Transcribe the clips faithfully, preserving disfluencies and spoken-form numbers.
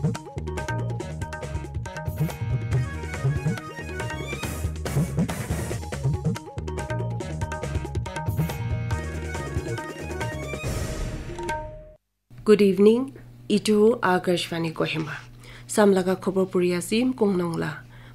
Good evening. Itu Akashvani Kohima. Samlaga khobor puri asim kongnong la.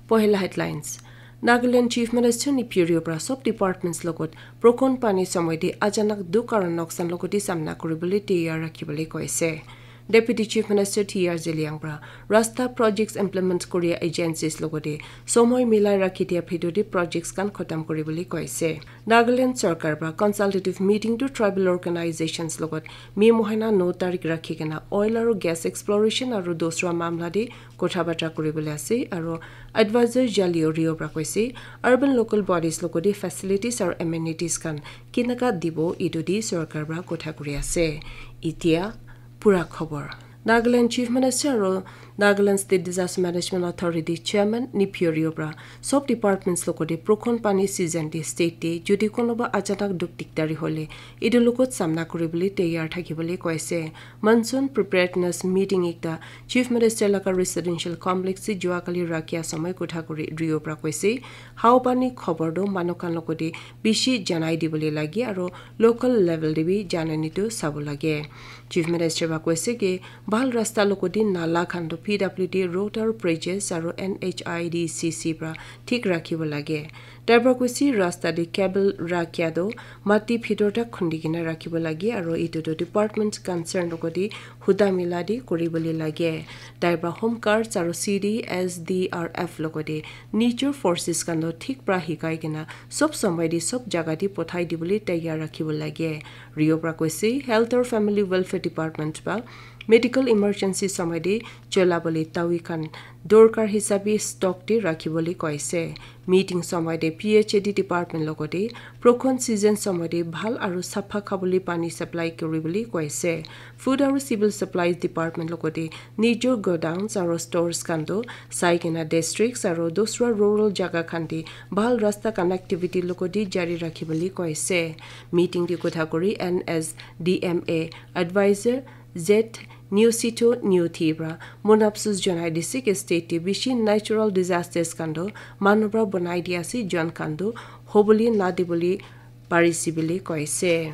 Pohela headlines. Nagaland Chief Minister Neiphiu Rio pra sob departments logot prokon pani somoy de achanak dukh aro noksan logoti samna kuribole tiyar rakhibole koise. Deputy Chief Minister T R Zeliang pra rasta projects implement koria agencies logote somoy milai rakhi dia bhitor de projects khan khotam kuribole koise. Nagaland Sarkar pra consultative meeting to tribal organizations logot May mohina no tarik rakhi kena oil aro gas exploration aro dosra mamla de kotha batra kuribole ase aro advisor Jalio Rio pra koise urban local bodies logote facilities aro amenities khan kinaka dibo itu de sarkar pra kotha kuri ase. Itia pura khobor. Nagaland Chief Minister aro Nagaland State Disaster Management Authority Chairman Neiphiu Rio pra sob departments logote prokon pani season de state de jodi konoba achanak dukh dikdari hole itu logot samna kuribole tiyar thakibole koise. Monsoon preparedness meeting ekta Chief Minister laga residential complex de juakali rakhia somoy kotha kuri Rio pra koise. Hao pani khobor do manu khan logote bishi janai dibole lage aro local level de bi janani tu sabo lage. Chief Minister ba koise ki bhal rasta logote nala khan tu P W D road aro bridges aro N H I D C C pra thik rakhibo lage. Tai pra koise rasta de cable rakhia tu mati bhitor tak khundi kena rakhibo lage aro itu tu department concern logote huda mila de kuribole lage. Tai pra Home Guards aro C D S D R F logote nijor forces khan tu thik pra hikai kena sob somoy de sob jaga de pothai dibole tiyar rakhibo lage. Rio pra koise Health or Family Welfare Department pra medical emergency somoy de cholabole tawi khan dorkar hisabe stock de rakhibole koise. Meeting somoy de P H A D department logote prokon season somoy de bhal aro sapha khabole pani supply kuribole koise. Food aro Civil Supplies Department logote nijor godowns aro stores khan tu sai kena districts aro dusra rural jaga khan de bhal rasta connectivity logote jari rakhibole koise. Meeting de kotha kuri N S D M A advisor Z Newsito Newthi pra mon apsus janai dise ki state de bishi natural disasters khan tu manu pra banai dia ase, jon khan tu hobole na dibole parise bole koise.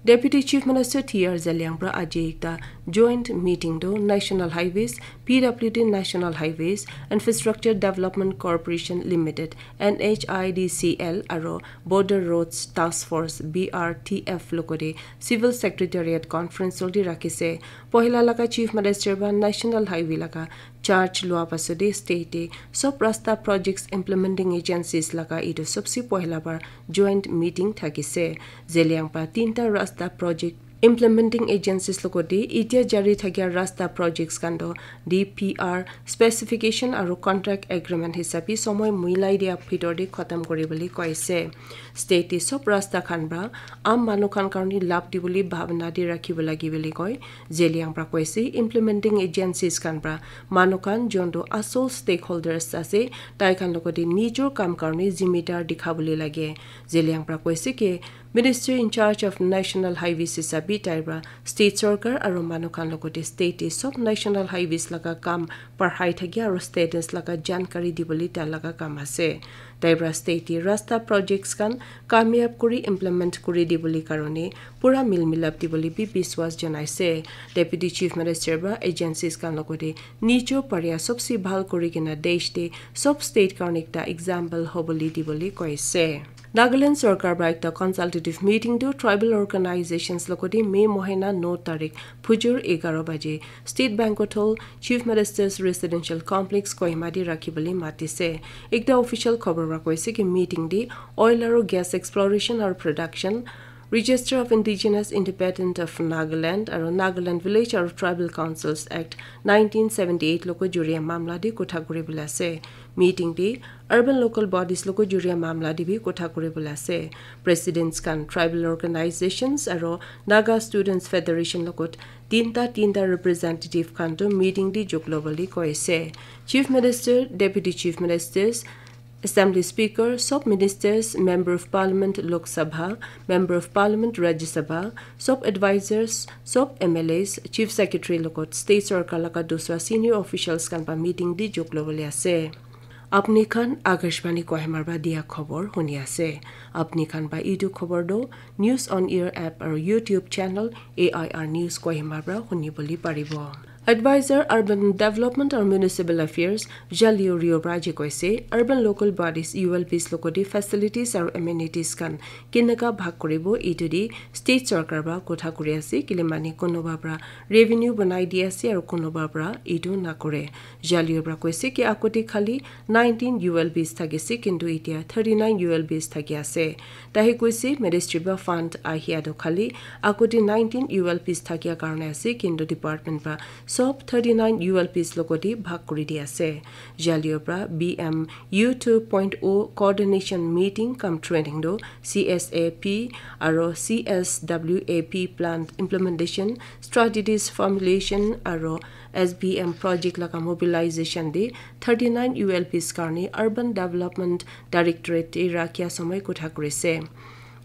Deputy Chief Minister T R Zeliang pra aji ekta joint meeting tu National Highways, P W D National Highways Infrastructure Development Corporation Limited, N H I D C L aro Border Roads Task Force, B R T F logote Civil Secretariat Conference hall de rakhise. Pohila laga Chief Minister ba National Highway laga charge lua pasode state de sob rasta projects implementing agencies laga itu sobse pohila bar joint meeting thakise. Zeliang pra tinta rasta project implementing agencies logote itia jari thakia rasta projects khan tu D P R specification aro contract agreement hisabe somoy milai dia bhitor de khatam kuribole koise. State de sob rasta khan pra am manu khan karone labh dibole bhabna de rakhibo lage bole koi. Zeliang pra koise implementing agencies khan pra manu khan jon tu asol stakeholders ase, tai khan logote nijor kam karone zimedar dikhabole lage. Zeliang pra koise ki Minister in charge of National Highways hisabe tai pra state sarkar aro manu khan logote state de sob national highways laga kam parhai thakia aro status laga jankari dibole tai laga kam ase. Tai pra state de rasta projects khan kamyab kuri implement kuri dibole karone pura mil milap dibole bi biswas janaise. Deputy Chief Minister pra agencies khan logote nijor paria sobse bhal kuri kena desh de sob state karone ekta example hobole dibole koise. Nagaland sarkar pra ekta consultative meeting tu tribal organizations logote May mohina no tarik phujur egaro baje State Banquet Hall, Chief Minister's Residential Complex, Kohima de rakhibole matise. Ekta official khobor pra koise ki meeting de oil aro gas exploration aro production, Register of Indigenous Inhabitant of Nagaland aro Nagaland Village aro Tribal Councils Act nineteen seventy eight logo juria mamla de kotha kuribole ase. Meeting de urban local bodies logo juria mamla de bi kotha kuribole ase. Presidents khan tribal organizations aro Naga Students Federation logot tinta tinta representative khan tu meeting de jok lobole koise. Chief Minister, Deputy Chief Ministers, Assembly Speaker, sob ministers, Member of Parliament Lok Sabha, Member of Parliament Rajya Sabha, sob advisors, sob M L As, Chief Secretary logot state sorkar laga dusra senior officials khan pa meeting di jok lobole ase. Apni khan Akashvani Kohima pra dia khobor huni ase. Apni khan pa itu khobor do News on Air app aru YouTube channel A I R News Kohima pra huni bole paribo. Advisor Urban Development aru Municipal Affairs Jalio Rio Raji koise, urban local bodies U L Ps logoti facilities aru amenities khan kinaka bhag koribo itu di state sorkar pra kotha kori ase, kile mane konoba pra revenue banai di ase aru konoba pra itu nakore. Jalio pra koise ki akote khali nineteen U L Bs thakise, kintu itia thirty-nine U L Bs thaki ase. Tahe koise ministry pra fund ahia to khali akote nineteen U L Bs thakia karone ase, kintu department pra sob thirty-nine U L Bs logoti bhag kuri di ase. Jalio pra B M U two point oh coordination meeting cum training do C S A P aro C S W A P plan implementation, strategies formulation aro S B M project laga mobilization de thirty-nine U L Bs karni Urban Development Directorate te rakhia samay kotha kurise.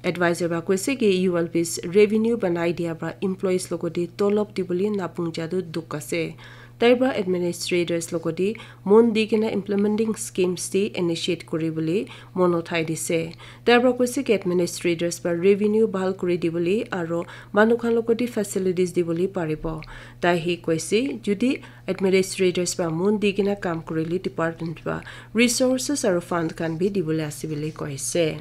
Advisor ba koise ki U L Bs revenue banai dia pra employees logoti tolop dibole napung jadu duk ase. Tai pra administrators logoti mon di kena implementing schemes de initiate kuri bole mon uthai dise. Tai pra koise ki administrators pra revenue bhal kuri dibole aro manu khan logoti facilities dibole paribo. Tai hi koise judi administrators pra mon di kena kam kurile department pra resources aro fund khan bi dibole ase bole koise.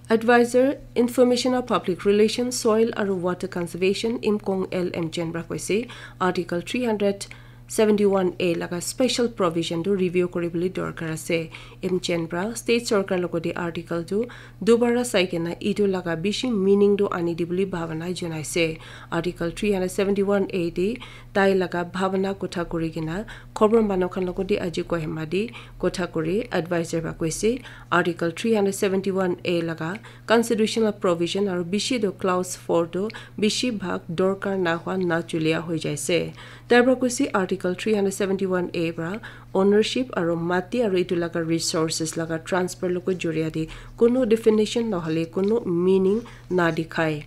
Advisor, Information of Public Relations, Soil aru Water Conservation, Imkong L M Chen pra koise, Article three hundred seventy-one A laga special provision tu review kuri bole dorkar ase. M Chen pra state sorkar logoti article tu dubara sai kena itu laga bishi meaning tu ani di bole bhabana janaise. Article three hundred seventy-one A de tai laga bhabana kotha kuri kena khobor manu khan logoti aji Kohima de kotha kuri advisor pra koise, Article three hundred seventy-one A laga constitutional provision aru bishi do clause four do bishi bhag dorkar na hua na chulia hoi jaise. Tai pra koise Article three hundred seventy-one A pra ownership aru mati aru itu laga resources laga transfer logo joria de kono definition nohole kono meaning na dikhai.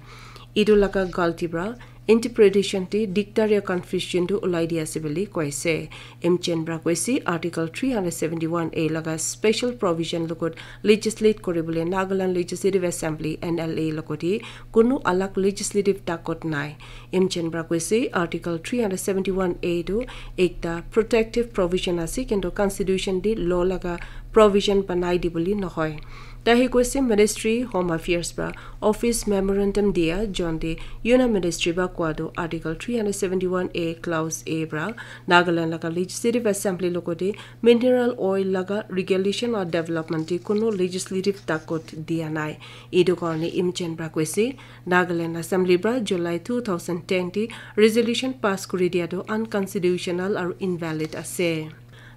Itu laga galti pra interpretation te diktar ya confusion tu ulai di ase bole koise. M Chen pra koise Article three hundred seventy-one A laga special provision logot legislate kuri bole Nagaland Legislative Assembly, N L A, logoti kono alag legislative takot nai. M Chen pra koise Article three hundred seventy-one A tu ekta protective provision ase, kintu constitution de law laga provision banai di bole nohoi. Tai hi koise Ministry Home Affairs pra office memorandum dia jonte Union Ministry pra koa tu Article three hundred seventy-one A clause A pra Nagaland laga Legislative Assembly logoti mineral oil laga regulation or development de kono legislative takot dia nai. Itu karne M Chen pra koise Nagaland Assembly pra July two thousand ten te resolution pass kuri dia tu unconstitutional aru invalid ase.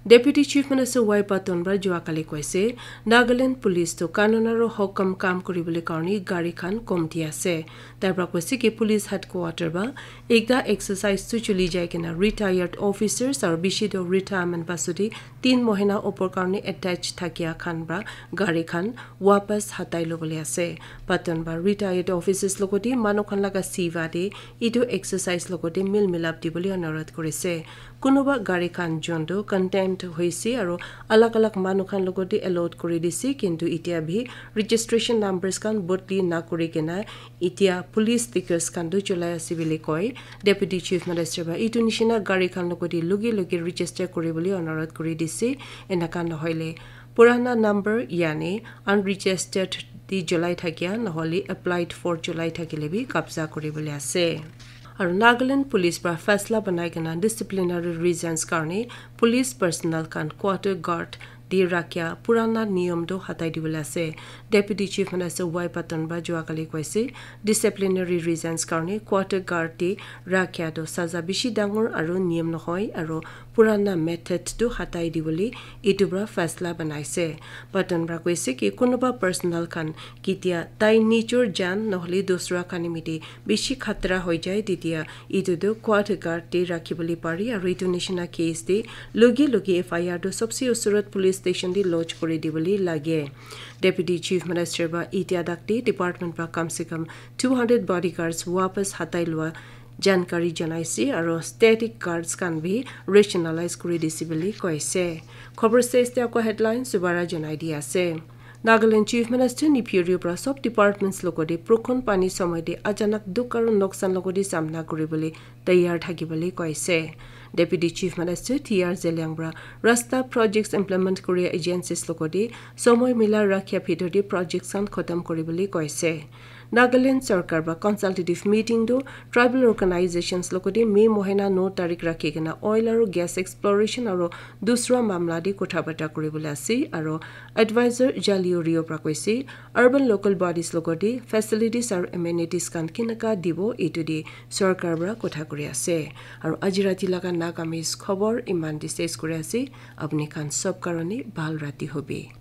Deputy Chief Minister Y Patton pra jua kali koise, Nagaland Police tu kanun aru hokam kam kuri bole karne gari khan kom di ase. Tai pra koise ki police headquarter pra ekta exercise tu chuli jai kena retired officers aru bishi tu retirement pasudi tin mohina opor karne attach thakia khan pra gari khan wapas hatai lobole ase. Patton pra retired officers logoti manu khan laga siva de itu exercise logoti mil milap dibole anurodh kurise. Kunuba gari khan jontu contempt hoise aru alag alag manu khan logoti allowed kuri dise, kintu itia bi registration numbers khan bodli na kuri kena itia police stickers khan tu cholai ase bole koi. Deputy Chief Minister pra itu nishina gari khan logoti logi logi register kuri bole anurodh kuri dise. Enaka nohoile purana number yani unregistered di cholai thakia nohole applied for cholai thakile bi kabza kuri bole ase. Aru Nagaland Police pra faisla banai kena disciplinary reasons karne police personnel khan quarter guard di rakhia purana niyom tu hatai dibole ase. Deputy Chief Minister Y Patton pra jua kali koise, disciplinary reasons karne quarter guard di rakhia tu saza bishi dangor aru niyom nohoi aru purana method tu hatai dibole itu pra faisla banaise. Patton pra koise ki kunuba personnel khan kitia tai nijor jan nohole dusra khan nimite bishi khatra hoi jai, titia itu tu quarter guard te rakhi bole pari aru itu nishina case te logi logi F I R tu sobse usurot police station te lodge kuri dibole lage. Deputy Chief Minister para itia tak te department para kam se kam two hundred bodyguards wapas hatai lua jankari janaise aro static guards khan bi rationalize kuri dise bole koise. Khobor stage te ako headlines dubara janai di ase. Nagaland Chief Minister Neiphiu Rio para sob departments logote prokon pani somoy te achanak dukh aro noksan logote samna kuribole taiyar thakibole koise. Deputy Chief Minister T R Zeliang para rasta projects implement kuria agencies logote somoy mila rakhia bhitor te projects khan khotom kuribole koise. Nagaland sarkar para consultative meeting tu tribal organizations logote May mohina no tarik rakhi kena oil aro gas exploration aro dusra mamla te kotha bata kuribole ase aro advisor Jalio Rio para koise urban local bodies logote facilities aro amenities khan kinaka dibo etu te sarkar para kotha kuri ase. Aro aji rati laga Nagamese khobor iman te ses kuri ase. Apni khan sob karone bhal rati hobi.